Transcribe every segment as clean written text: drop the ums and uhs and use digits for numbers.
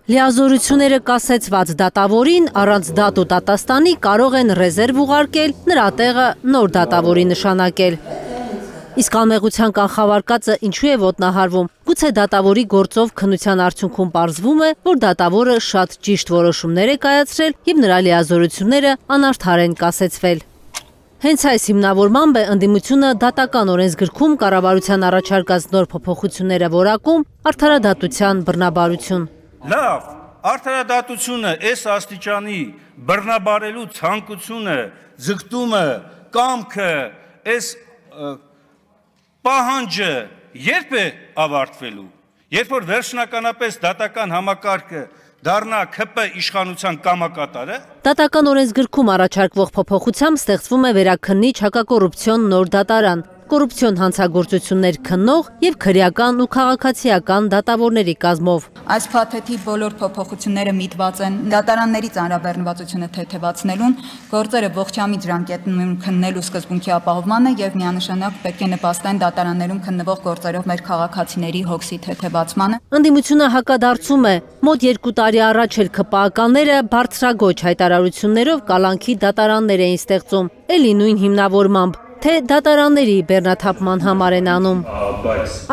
Լիազորությունները կասեցված դատավորին առանց դատ ու դատաստանի կարող են ռեզերվ ուղարկել, նրա տեղը նոր դատավորի նշանակել։ Իսկ անմեղության կանխավարկածը ինչու է ոտնահարվում։ Գուցե դատավորի գործով քննության արդյունքում պարզվում է, որ դատավորը շատ ճիշտ որոշումներ է կայացրել և նրա լիազորությունները անարդար են կասեցվել։ Հենց այս հիմնավորմամբ է ընդդիմությունը դատական օրենսգրքում կառավարության առաջարկած նոր փոփոխությունները որակում արդարադատության բռնաբարություն։ Լավ, արդարադատությունը այս աստիճանի բռնաբարելու ցանկությունը, ձգտումը, կամքը, այս պահանջը երբ է ավարտվելու, երբ որ վերջնականապես դատական համակարգը դառնա ՔՊ իշխանության կամակատարը։ Դատական օրենսգրքում առաջարկվող փոփոխությամբ ստեղծվում է վերաքննիչ հակակոռուպցիոն նոր դատարան, կոռուպցիոն հանցագործություններ քննող և քրեական ու քաղաքացիական դատավորների կազմով։ Այս փաթեթի բոլոր փոփոխությունները միտված են դատարանների ծանրաբեռնվածությունը թեթևացնելուն, գործերը ողջամիտ ժամկետներում քննելու սկզբունքի ապահովմանը և միանշանակ պետք է նպաստեն դատարաններում քննվող գործերով մեր քաղաքացիների հոգսի թեթևացմանը։ Ընդդիմությունը հակադարձում է, մոտ 2 տարի առաջ էլ ՔՊԱ-ականները բարձրագոչ հայտարարություններով կալանքի դատարաններ էին ստեղծում, էլի նույն հիմնավորմամբ, թե դատարանների բեռնաթափման համար են անում։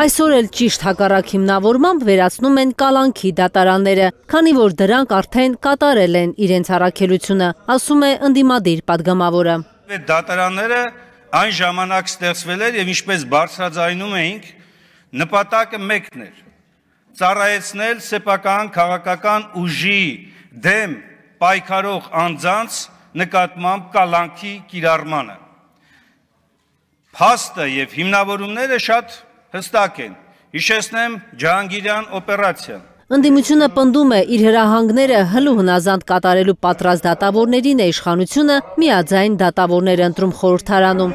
Այսօր էլ ճիշտ հակառակ հիմնավորմամբ վերացնում են կալանքի դատարանները, քանի որ դրանք արդեն կատարել են իրենց առաքելությունը, ասում է ընդդիմադիր պատգամավորը։ Դատարանները այն ժամանակ ստեղծվել էր և ինչպես բարձրաձայնում էինք, նպատակը մեկն էր՝ ծառայեցնել սեփական քաղաքական ուժի դեմ պայքարող անձանց նկատմամբ կալանքի կիրառմանը։ Փաստը և հիմնավորումները շատ հստակ են, հիշեցնեմ Ջահանգիրյան օպերացիան։ Ընդդիմությունը պնդում է իր հրահանգները հլու հնազանդ կատարելու պատրաստ դատավորներին է իշխանությունը միաձայն դատավորներ ընտրում խորհրդարանում։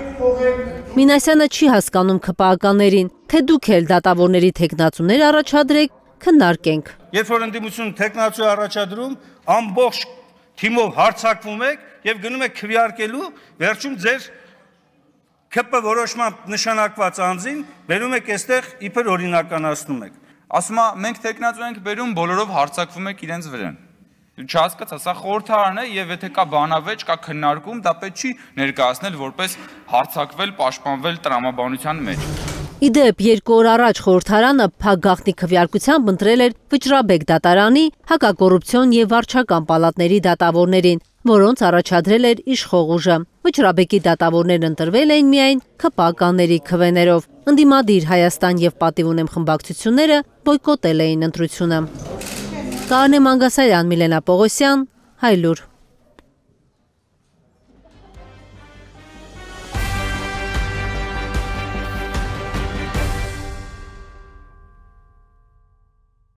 Մինասյանը չի հասկանում ՔՊԱ-ականներին, թե դուք էլ դատավորների թեկնածուներ առաջադրեք, քննարկենք։ Երբ որ ընդդիմությունը թեկնածու է առաջադրում, ամբողջ թիմով հարձակվում եք և գնում եք քվեարկելու, վերջում ձեր ՔՊ որոշմամբ նշանակված անձին բերում եք այստեղ իբր օրինականացնում եք։ Ասում է, մենք թեկնածու ենք բերում, բոլորով հարձակվում եք իրենց վրան։ Չհասկացա, սա խորհրդարան է և եթե կա բանավեճ, կա քննարկում, դա պետք չի ներկայացնել որպես հարձակվել, պաշտպանվել տրամաբանության մեջ։ Իդեպ 2 օր առաջ խորհրդարանը փակ գաղտնի քվեարկությամբ ընտրել էր Վճռաբեկ դատարանի հակակոռուպցիոն և վարչական պալատների դատավորներին, որոնց առաջադրել էր իշխող ուժը։ Վճռաբեկի դատավորներն ընտրվել էին միայն ՔՊԱ-ականների քվեներով։ Ընդդիմադիր Հայաստան և Պատիվ ունեմ խմբակցությունները բոյկոտել էին ընտրությունը։ Կարինե Մանգասարյան, Միլենա Պողոսյան, Հայլուր։